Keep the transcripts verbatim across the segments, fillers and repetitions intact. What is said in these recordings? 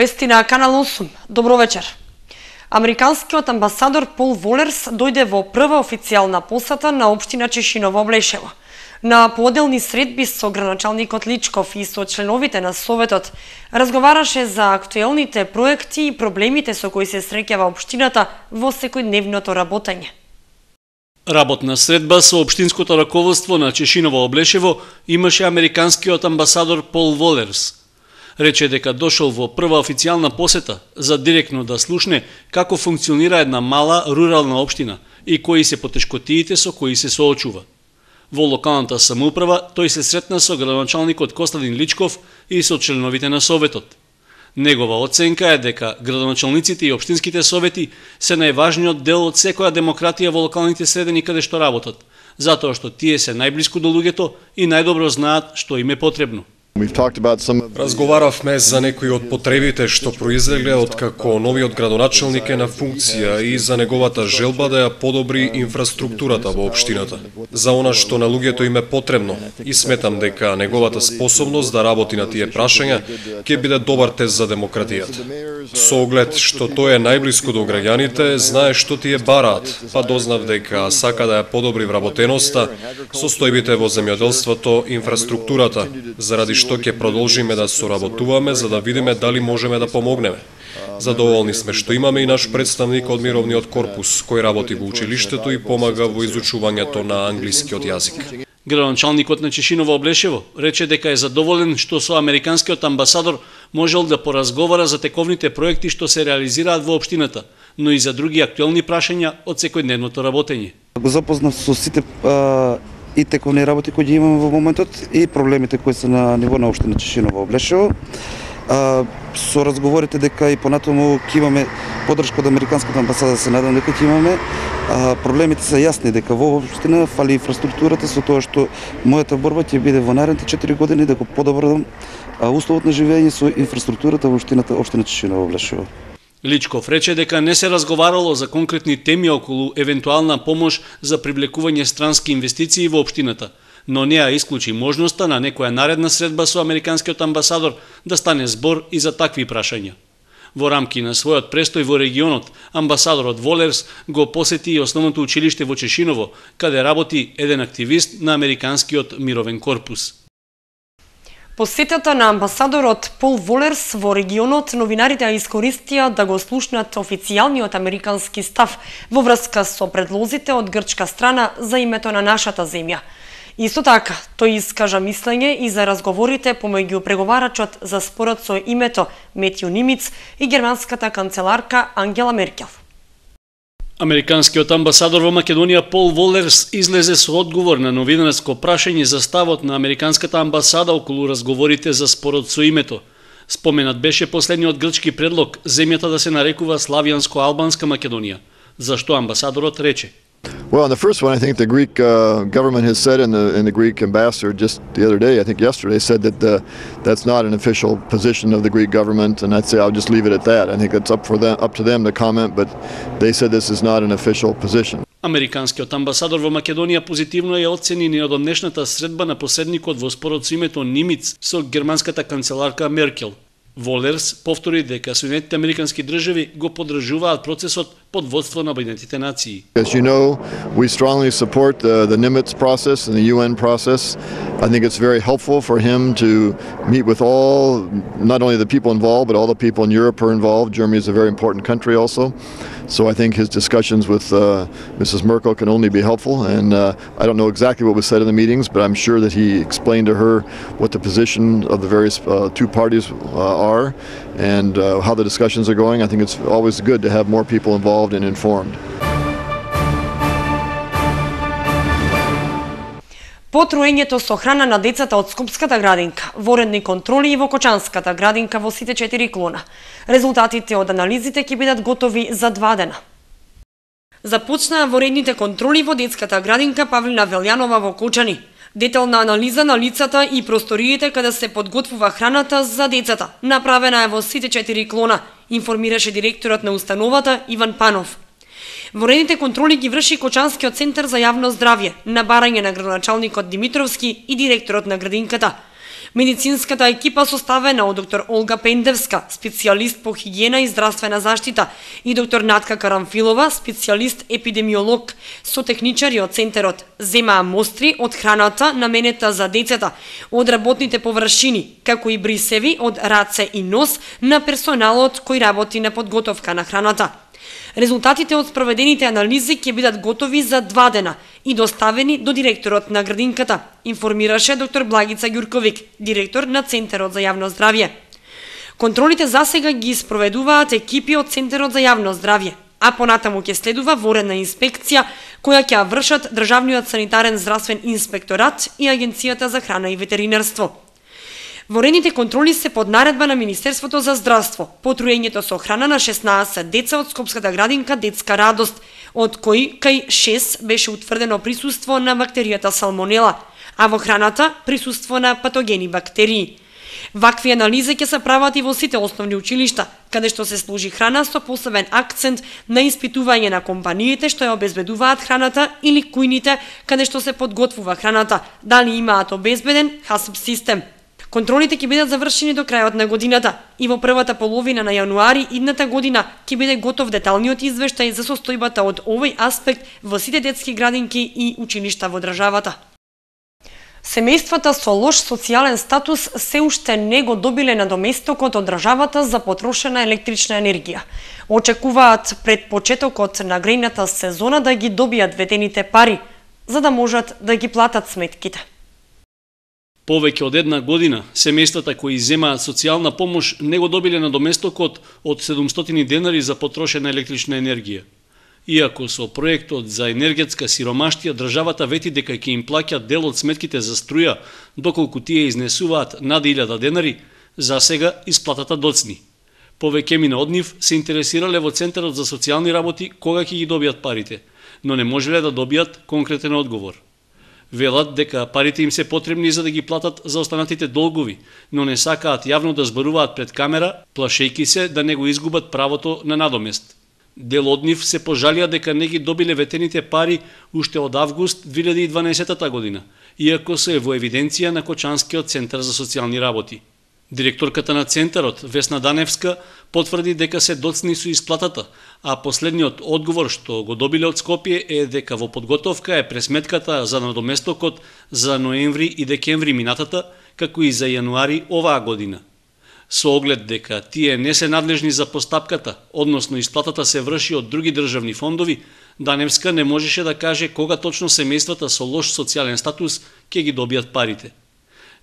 Вести на Канал осум. Добро вечер. Американскиот амбасадор Пол Волерс дојде во прва официјална посета на општина Чешиново-Облешево. На поделни средби со градоначалникот Личков и со членовите на Советот разговараше за актуелните проекти и проблемите со кои се среќава општината во секојдневното работење. Работна средба со општинското раководство на Чешиново-Облешево имаше американскиот амбасадор Пол Волерс. Рече дека дошол во прва официјална посета за директно да слушне како функционира една мала рурална општина и кои се потешкотиите со кои се соочува. Во локалната самоуправа тој се сретна со градоначалникот Костадин Личков и со членовите на Советот. Негова оценка е дека градоначалниците и општинските совети се најважниот дел од секоја демократија во локалните средини каде што работат, затоа што тие се најблиску до луѓето и најдобро знаат што им е потребно. Разговаравме за некои од потребите што произлегле од како новиот градоначалник е на функција и за неговата желба да ја подобри инфраструктурата во општината. За она што на луѓето им е потребно и сметам дека неговата способност да работи на тие прашања ќе биде добар тест за демократијата. Со оглед што тој е најблиску до граѓаните, знае што тие бараат, па дознав дека сака да ја подобри вработеноста, состојбите во земјоделството, инфраструктурата, заради што ќе продолжиме да соработуваме за да видиме дали можеме да помогнеме. Задоволни сме што имаме и наш представник од Мировниот корпус, кој работи во училиштето и помага во изучувањето на англискиот јазик. Градоначалникот на Чешиново-Облешево рече дека е задоволен што со американскиот амбасадор можел да поразговара за тековните проекти што се реализираат во општината, но и за други актуелни прашања од секојдневното работење. Го запознав со сите а... и тековни работи кои ги имаме во моментот и проблемите кои се на ниво на општина Чешиново-Облешево. Со разговорите дека и понатаму ќе имаме поддршка од американската амбасада, се надам дека ќе имаме. А, проблемите се јасни дека во општина фали инфраструктурата, со тоа што мојата борба ќе биде во наредните четири години да го подобрам условот на живење со инфраструктурата во општината општина Чешиново-Облешево. Личков рече дека не се разговарало за конкретни теми околу евентуална помош за привлекување странски инвестиции во општината, но не ја исклучи можноста на некоја наредна средба со американскиот амбасадор да стане збор и за такви прашања. Во рамки на својот престој во регионот, амбасадорот Волерс го посети и основното училиште во Чешиново, каде работи еден активист на американскиот мировен корпус. Посетата на амбасадорот Пол Волерс во регионот новинарите ја искористија да го слушнат официјалниот американски став во врска со предлозите од грчка страна за името на нашата земја. Исто така, тој искажа мислење и за разговорите помеѓу преговарачот за спорот со името Метју Нимиц и германската канцеларка Ангела Меркел. Американскиот амбасадор во Македонија Пол Волерс излезе со одговор на новинарско прашање за ставот на американската амбасада околу разговорите за спорот со името. Споменат беше последниот грчки предлог земјата да се нарекува Славијанско-албанска Македонија. Зашто амбасадорот рече: Well, on the first one, I think the Greek uh, government has said, and the, and the Greek ambassador just the other day, I think yesterday, said that the, that's not an official position of the Greek government, and I'd say I'll just leave it at that. I think it's up for them, up to them to comment, but they said this is not an official position. Американскиот амбасадор во Македонија позитивно ја оцени неодамнешната средба на посредникот во спорот со името Нимиц со германската канцеларка Меркел. Волерс повтори дека Соединетите американски држави го поддржуваат процесот под водство на Обединетите нации. As you know, we strongly support the, the Nimitz process and the U N process. I think it's very helpful for him to meet with all, not only the people involved, but all the people in Europe are involved. Germany is a very important country also. So I think his discussions with uh, Missus Merkel can only be helpful, and uh, I don't know exactly what was said in the meetings, but I'm sure that he explained to her what the position of the various uh, two parties uh, are and uh, how the discussions are going. I think it's always good to have more people involved and informed. По троењето со храна на децата од Скопската градинка, воредни контроли и во Кочанската градинка во сите четири клона. Резултатите од анализите ќе бидат готови за два дена. Започнаа воредните контроли во детската градинка Павлина Велјанова во Кочани. Детална анализа на лицата и просториите каде се подготвува храната за децата направена е во сите четири клона, информираше директорот на установата Иван Панов. Воредните контроли ги врши Кочанскиот центар за јавно здравје на барање на градоначалникот Димитровски и директорот на градинката. Медицинската екипа составена од доктор Олга Пендевска, специјалист по хигиена и здравствена заштита, и доктор Натка Карамфилова, специјалист епидемиолог, со техничари од центарот, земаа мостри од храната наменета за децата, од работните површини, како и брисеви од раце и нос на персоналот кој работи на подготовка на храната. Резултатите од спроведените анализи ќе бидат готови за два дена и доставени до директорот на градинката, информираше доктор Благица Ѓурковик, директор на Центарот за јавно здравје. Контролите засега ги спроведуваат екипи од Центарот за јавно здравје, а понатаму ќе следува воредна инспекција која ќе вршат Државниот санитарен здравствен инспекторат и Агенцијата за храна и ветеринарство. Воредните контроли се под наредба на Министерството за здравство, по труењето со храна на шеснаесет деца од Скопската градинка Детска радост, од кои кај шест беше утврдено присуство на бактеријата салмонела, а во храната присуство на патогени бактерии. Вакви анализи ќе се прават и во сите основни училишта, каде што се служи храна со посебен акцент на испитување на компаниите што ја обезбедуваат храната или кујните каде што се подготвува храната, дали имаат обезбеден хасп систем. Контролите ќе бидат завршени до крајот на годината и во првата половина на јануари идната година ќе биде готов деталниот извештај за состојбата од овој аспект во сите детски градинки и училишта во државата. Семејствата со лош социјален статус се уште не го добиле надоместокот од државата за потрошена електрична енергија. Очекуваат пред почетокот на грејната сезона да ги добијат ветените пари, за да можат да ги платат сметките. Повеќе од една година, семејствата кои земаат социјална помош не го добиле надоместокот од седумстотини денари за потрошена електрична енергија. Иако со проектот за енергетска сиромаштија државата вети дека ќе им плаќат дел од сметките за струја, доколку тие изнесуваат над илјада денари, за сега исплатата доцни. Повеќемина од нив се интересирале во Центарот за социјални работи кога ќе ги добијат парите, но не можеле да добијат конкретен одговор. Велат дека парите им се потребни за да ги платат за останатите долгови, но не сакаат јавно да зборуваат пред камера, плашејки се да не го изгубат правото на надомест. Дел од нив се пожалија дека не ги добиле ветените пари уште од август две илјади и дванаесетта година, иако се во евиденција на Кочанскиот центар за социјални работи. Директорката на центарот, Весна Даневска, потврди дека се доцни со исплатата, а последниот одговор што го добиле од Скопје е дека во подготовка е пресметката за надоместокот за ноември и декември минатата, како и за јануари оваа година. Со оглед дека тие не се надлежни за постапката, односно исплатата се врши од други државни фондови, Даневска не можеше да каже кога точно семејствата со лош социјален статус ќе ги добијат парите.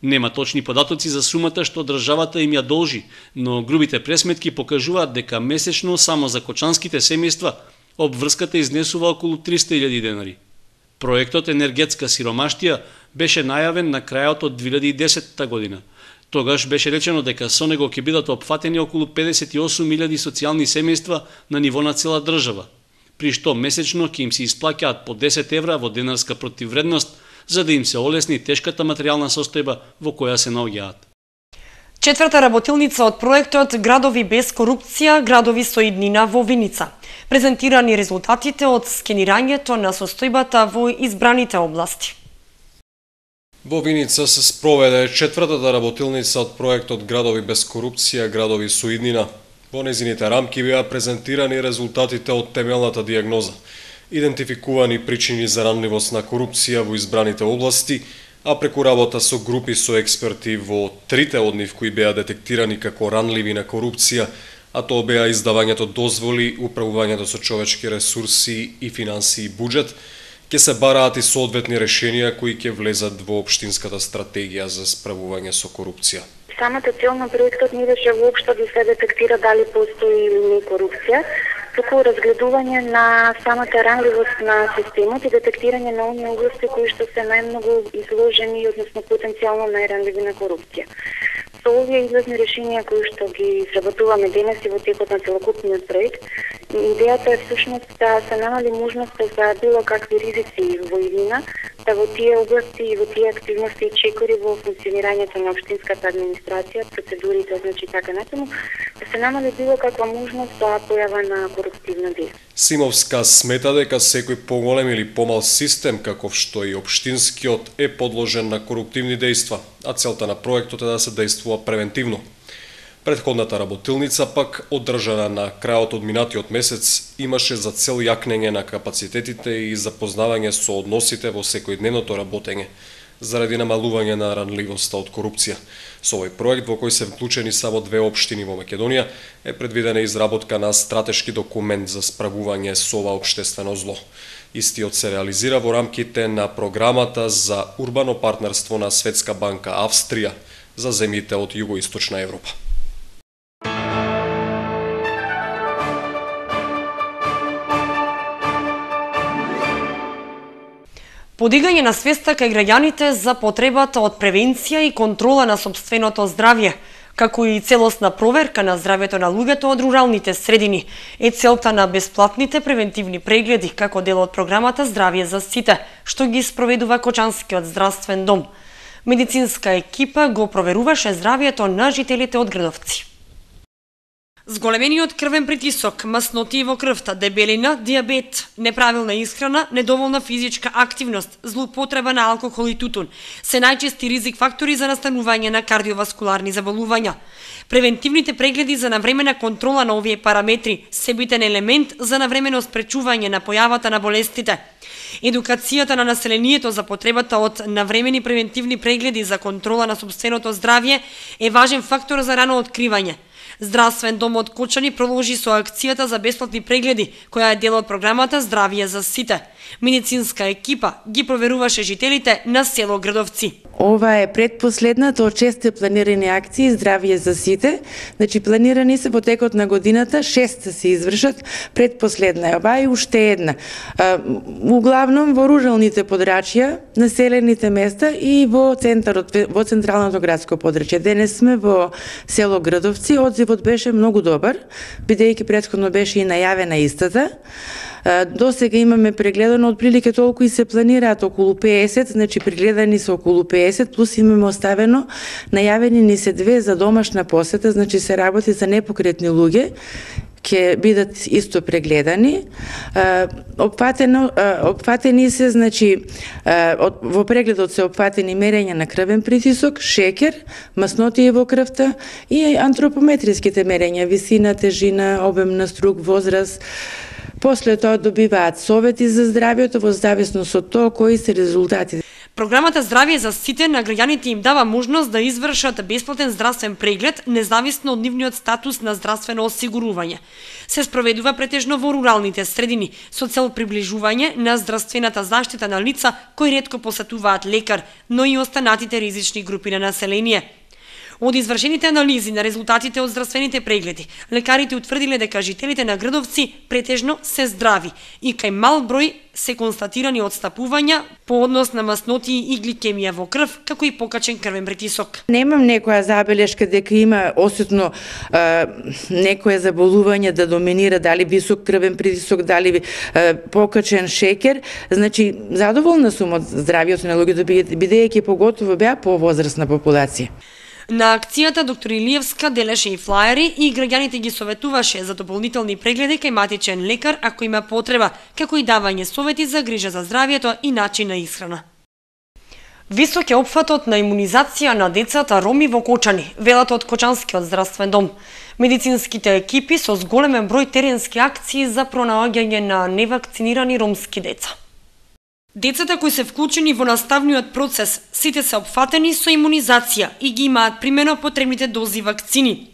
Нема точни податоци за сумата што државата им ја должи, но грубите пресметки покажуваат дека месечно само за кочанските семејства обврската изнесува околу триста илјади денари. Проектот енергетска сиромаштија беше најавен на крајот од две илјади и десетта година. Тогаш беше речено дека со него ќе бидат опфатени околу педесет и осум илјади социјални семејства на ниво на цела држава, при што месечно ќе им се исплаќаат по десет евра во денарска противвредност, за да им се олесни тешката материјална состојба во која се наоѓаат. Четврта работилница од проектот Градови без корупција, градови со иднина во Виница. Презентирани резултатите од скенирањето на состојбата во избраните области. Во Виница се спроведе четвртата работилница од проектот Градови без корупција, градови со иднина. Во незините рамки беа презентирани резултатите од темелната дијагноза, идентификувани причини за ранливост на корупција во избраните области, а преку работа со групи со експерти во трите од нив кои беа детектирани како ранливи на корупција, а тоа беа издавањето дозволи, управувањето со човечки ресурси и финансии и буџет, ќе се бараат и соодветни решенија кои ќе влезат во општинската стратегија за справување со корупција. Самата цел на проектот не беше воопшто да се детектира дали постои или не корупција, туку разгледување на самата ранливост на системот и детектирање на оние области кои што се најмногу изложени, односно потенцијално најранливи на корупција. Со овие излезни решенија кои што ги сработуваме денес и во текот на целокупниот проект, идејата е всушност да се намали можноста за било какви ризици во иднина, да во тие области и во тие активности и чекори во функционирањето на општинската администрација, процедурите, значи така натаму, да се намали било каква можност за појава на коруптивно дејство. Симовска смета дека секој поголем или помал систем, каков што и општинскиот, е подложен на коруптивни дејства, а целта на проектот е да се дејствува превентивно. Претходната работилница пак, одржана на крајот од минатиот месец, имаше за цел јакнење на капацитетите и запознавање со односите во секојдневното работење, заради намалување на ранливоста од корупција. Со овој проект, во кој се вклучени само две општини во Македонија, е предвидена изработка на стратешки документ за справување со ова општествено зло. Истиот се реализира во рамките на програмата за урбано партнерство на Светска банка Австрија за земјите од југоисточна Европа. Подигање на свеста кај граѓаните за потребата од превенција и контрола на сопственото здравје, како и целосна проверка на здравјето на луѓето од руралните средини, е целта на бесплатните превентивни прегледи како дел од програмата Здравје за сите, што ги спроведува Кочанскиот здравствен дом. Медицинска екипа го проверуваше здравјето на жителите од Градовци. Зголемениот крвен притисок, маснотии во крвта, дебелина, диабет, неправилна исхрана, недоволна физичка активност, злоупотреба на алкохол и тутун се најчести ризик фактори за настанување на кардиоваскуларни заболувања. Превентивните прегледи за навремена контрола на овие параметри се битен елемент за навремено спречување на појавата на болестите. Едукацијата на населението за потребата од навремени превентивни прегледи за контрола на сопственото здравје е важен фактор за рано откривање. Здравствен дом од Кочани продолжи со акцијата за бесплатни прегледи, која е дел од програмата Здравје за сите. Медицинска екипа ги проверуваше жителите на село Градовци. Ова е предпоследната од шесте планирани акции Здравје за сите. Значи планирани се во текот на годината, шест се извршат, предпоследна е ова и уште една. Углавном во руралните подрачја, населените места и во центарот, во централното градско подрачје. Денес сме во село Градовци, одзивот беше многу добар, бидејќи претходно беше и најавена истата. До сега имаме прегледано отприлike толку и се планираат околу пеесет, значи прегледани се околу пеесет, плюс имаме оставено, најавени ни се две за домашна посета, значи се работи за непокретни луѓе, ќе бидат исто прегледани. Опфатено, опфатени се, значи, во прегледот се опфатени мерења на крвен притисок, шекер, маснотии во крвта и антропометриските мерења, висина, тежина, обем на струк, возраст. После тоа добиваат совети за здравјето во зависност од тоа кои се резултатите. Програмата Здравје за сите на граѓаните им дава можност да извршат бесплатен здравствен преглед независно од нивниот статус на здравствено осигурување. Се спроведува претежно во руралните средини со цел приближување на здравствената заштита на лица кои ретко посетуваат лекар, но и останатите ризични групи на население. Од извршените анализи на резултатите од здравствените прегледи, лекарите утврдиле дека жителите на Градовци претежно се здрави и кај мал број се констатирани отстапувања по однос на маснотии и гликемија во крв, како и покачен крвен притисок. Немам некоја забелешка дека има осетно е, некое заболување да доминира, дали висок крвен притисок, дали е, покачен шекер. Значи, задоволна сум од здравјето на луѓето, бидејќи поготово беа повозрастна популација. На акцијата доктор Илиевска делеше и флаери и граѓаните ги советуваше за дополнителни прегледи кај матичен лекар ако има потреба, како и давање совети за грижа за здравјето и начин на исхрана. Висок е опфатот на имунизација на децата роми во Кочани, велат од Кочанскиот здравствен дом. Медицинските екипи со зголемен број теренски акции за пронаоѓање на невакцинирани ромски деца. Децата кои се вклучени во наставниот процес, сите се опфатени со имунизација и ги имаат примено потребните дози вакцини.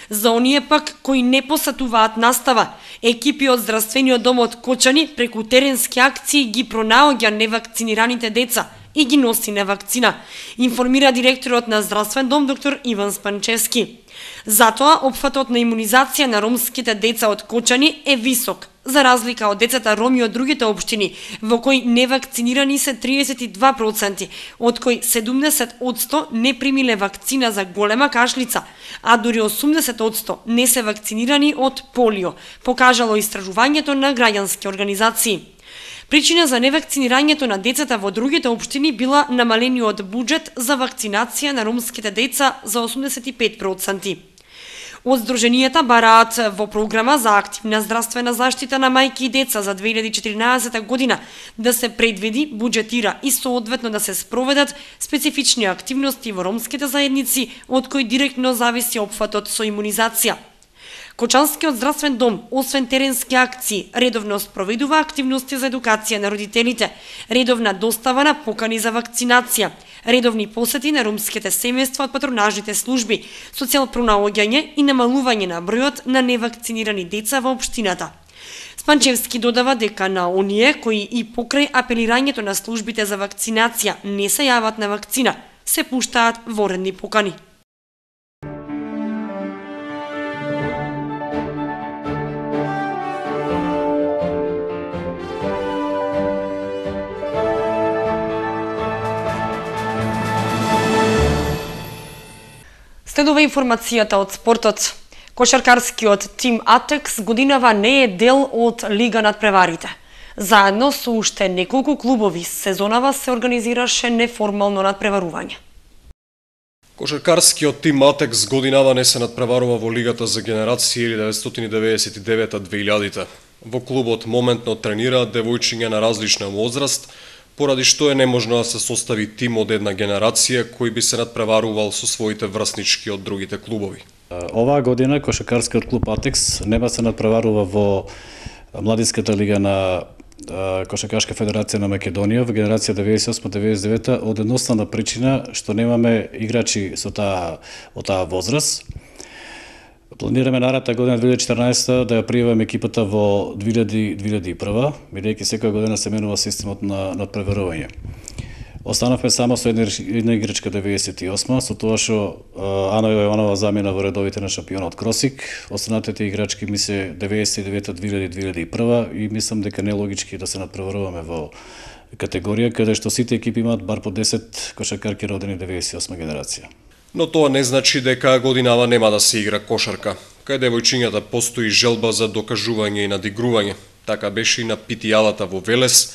За оние пак кои не посетуваат настава, екипи од здравствениот дом од Кочани преку теренски акции ги пронаоѓа невакцинираните деца и ги носи на вакцина, информира директорот на здравствен дом доктор Иван Спанчевски. Затоа опфатот на имунизација на ромските деца од Кочани е висок, за разлика од децата роми од другите општини, во кои невакцинирани се триесет и два проценти, од кои седумдесет одсто не примиле вакцина за голема кашлица, а дури осумдесет одсто не се вакцинирани од полио, покажало истражувањето на граѓански организации. Причина за невакцинирањето на децата во другите општини била намалениот буџет за вакцинација на ромските деца за осумдесет и пет проценти. Од Сдруженијата бараат во програма за активна здравствена заштита на мајки и деца за две илјади и четиринаесета година да се предвиди, буџетира и соодветно да се спроведат специфични активности во ромските заедници, од кои директно зависи опфатот со имунизација. Кочанскиот здравствен дом, освен теренски акции, редовно спроведува активности за едукација на родителите, редовна достава на покани за вакцинација, редовни посети на ромските семејства од патронажните служби, социјално пронаоѓање и намалување на бројот на невакцинирани деца во општината. Спанчевски додава дека на оние кои и покрај апелирањето на службите за вакцинација не се јават на вакцина, се пуштаат воредни покани. Следува информацијата од спортот. Кошаркарскиот тим Атекс годинава не е дел од Лига надпреварите. Заедно со уште неколку клубови, сезонава се организираше неформално надпреварување. Кошаркарскиот тим Атекс годинава не се надпреварува во Лигата за генерација илјадесетстотини деветдесет и девета до две илјадите. Во клубот моментно тренираат девојчиња на различна возраст, поради што е неможно да се состави тим од една генерација кој би се надпреварувал со своите врснички од другите клубови. Оваа година кошаркарскиот клуб Атекс нема се надпреварува во младинската лига на Кошаркарска федерација на Македонија во генерација деветдесет и осма деветдесет и девета од едноставна причина што немаме играчи со таа од таа возраст. Планираме наредната година две илјади и четиринаесета да ја пријаваме екипата во две илјади и две илјади и прва, бидејќи секоја година се менува системот на надпреварување. Останавме само со една, една играчка деветдесет и осма, со тоа што Ана Јованова замена во редовите на шампионот Кросик. Останатите играчки ми се деветдесет и девета, две илјади, две илјади и прва и мислам дека не е логички да се надпреваруваме во категорија каде што сите екипи имаат бар по десет кошаркарки родени деветдесет и осма генерација. Но тоа не значи дека годинава нема да се игра кошарка. Кај девојчињата постои желба за докажување и надигрување. Така беше и на питијалата во Велес,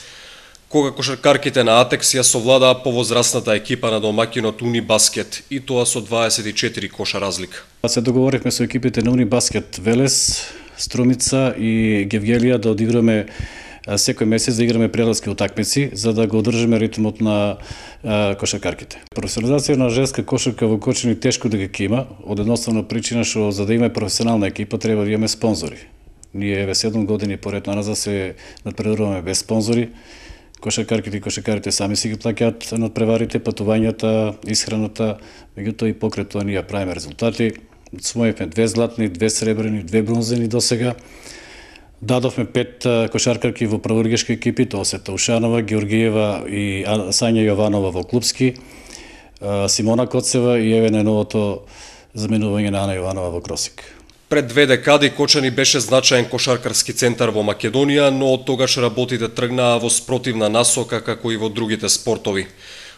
кога кошаркарките на Атекс ја совладаа повозрастната екипа на домаќинот Унибаскет и тоа со дваесет и четири коша разлика. Се договоривме со екипите на Унибаскет Велес, Струмица и Гевгелија да одиграме секој месец да играме преласки утакмици за да го одржиме ритмот на а, кошаркарките. Професионализација на женска кошарка во Кочани тешко да ги има, од едноставна причина што за да има професионална екипа треба да имаме спонзори. Ние еве седум години поред назад се надпреваруваме без спонзори. Кошаркарките и кошаркарите сами си ги плаќаат надпреварите, патувањата, исхраната, меѓутоа и покрај тоа ние правиме резултати. Освоивме две златни, две сребрени, две бронзени досега. Дадовме пет кошаркарки во прволигашки екипи, тоа се Таушанова, Георгиева и Сања Јованова во клубски, Симона Коцева и еве најновото заменување на Ана Јованова во Кросик. Пред две декади Кочани беше значаен кошаркарски центар во Македонија, но од тогаш работите тргнаа во спротивна насока како и во другите спортови.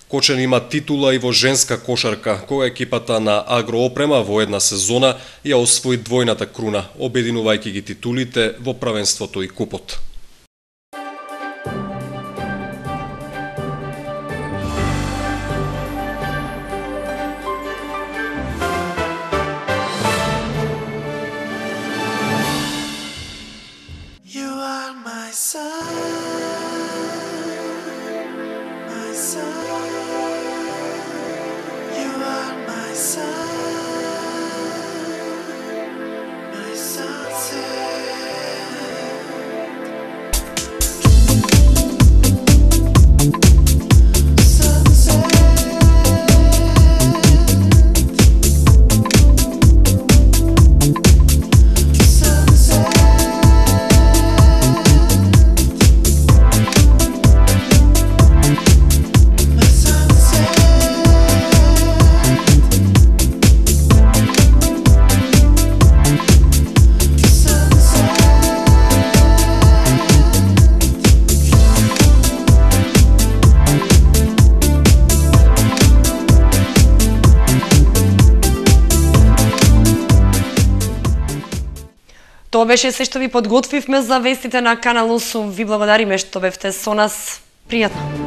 Кочани има титула и во женска кошарка, кога екипата на Агроопрема во една сезона ја освои двојната круна, обединувајќи ги титулите во правенството и купот. Тоа беше се што ви подготвивме за вестите на Канал осум. Ви благодариме што бевте со нас. Пријатно.